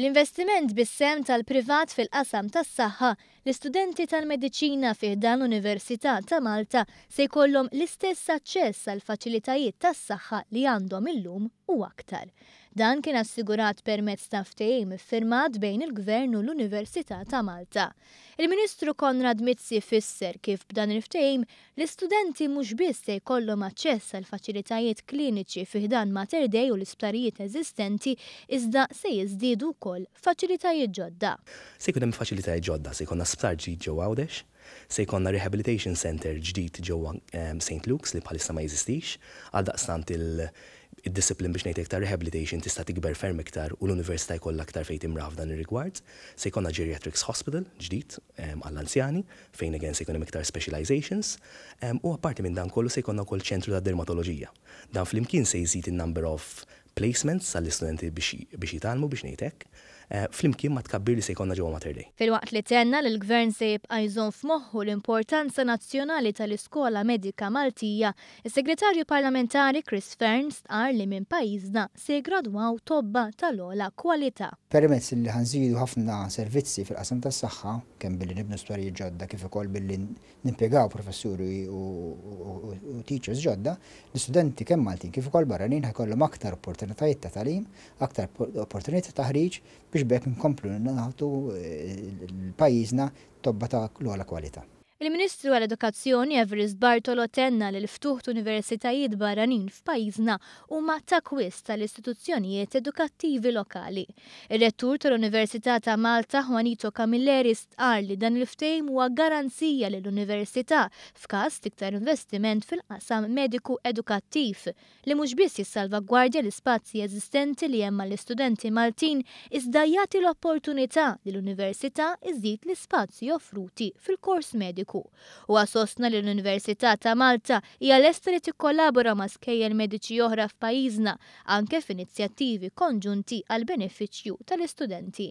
Bl-investiment bis-sehem tal-privat fil-qasam tas-saħħa, l-istudenti tal-mediċina fi ħdan l-Università ta' Malta se jkollhom l-istess aċċess għall-faċilitajiet tas-saħħa li għandhom illum u aktar. Dan kien assigurat permezz ta' ftehim iffirmat bejn il-Gvern u l-Università ta' Malta. Il-Ministru Konrad Mizzi fisser kif b'dan il-ftehim l-istudenti mhux biss se jkollhom aċċess għal faċilitajiet kliniċi fi ħdan Mater Dei u l-isptarijiet eżistenti iżda se jiżdiedu wkoll faċilitajiet ġodda. Se jkun hemm faċilitajiet ġodda, se jkollna sptar ġdid ġewwa Għawdex, se jkollna rehabilitation centre ġdid ġewwa St Luke's li bħalissa ma jeżistix, għaldaqstant id-discipline biex ngħid hekk ta' rehabilitation tista' tikber ferm iktar u l-università jkollha aktar fejn timraħ f'dan ir-rigward. Se jkollna geriatrics hospital ġdid għall-anzjani fejn again se jkun hemm iktar specializations u apparti minn dan kollu se jkollna wkoll ċentru ta' dermatoloġija. Dan flimkien se jżid in-number of placements għall-istudenti biex jitgħallmu biex ngħid hekk, flimkien mat-tkabbir li se jkollna ġewwa Mater Dei. Filwaqt li tenna li l-Gvern se jibqa' jżomm f'moħħu l-importanza nazzjonali tal-Iskola Medika Maltija, is-Segretarju Parlamentari Chris Fearne stqarr li minn pajjiżna se jiggradwaw tobba tal-ogħla kwalità. Permezz li ħa nżidu ħafna servizzi fil-qasam tas-saħħa, kemm billi nibnu sptarijiet ġodda kif ukoll billi nimpjegaw professuri u teachers ġodda, l-istudenti kemm Maltin kif ukoll barranin ħa jkollhom aktar opportunitajiet ta' tagħlim, aktar opportunitajiet ta' taħriġ biex b'hekk nkomplu nagħtu l-pajjiżna tobba ta' l-ogħla kwalità. Il-Ministru għall-Edukazzjoni Evarist Bartolo tenna li l-ftuħ t'universitajiet barranin f'pajjiżna huma t'akkwist tal-istituzzjonijiet edukattivi lokali. Ir-Rettur tal-Università ta' Malta Juanito Camilleri stqarr li dan il-ftehim huwa garanzija lill-Università f'każ t'iktar investiment fil-qasam mediku edukattiv li mhux biss jissalvagwardja l-ispazji eżistenti li hemm għall-istudenti Maltin iżda jagħti l-opportunità li l-Università iżżid l-ispazji offruti fil-kors mediku. Huwa sostna li l-Università ta' Malta hija lesta li tikkollabora ma' skejjel mediċi oħra f'pajjiżna anke f'inizjattivi konġunti għall-benefiċċju tal-istudenti.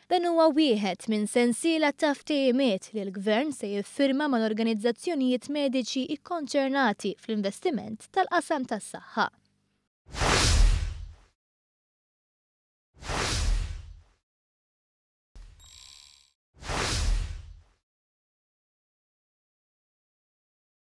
Dan huwa wieħed minn sensiela ta' ftehimiet li l-Gvern se jiffirma mal-organizzazzjonijiet mediċi kkonċernati fl-investiment tal-qasam tas-saħħa.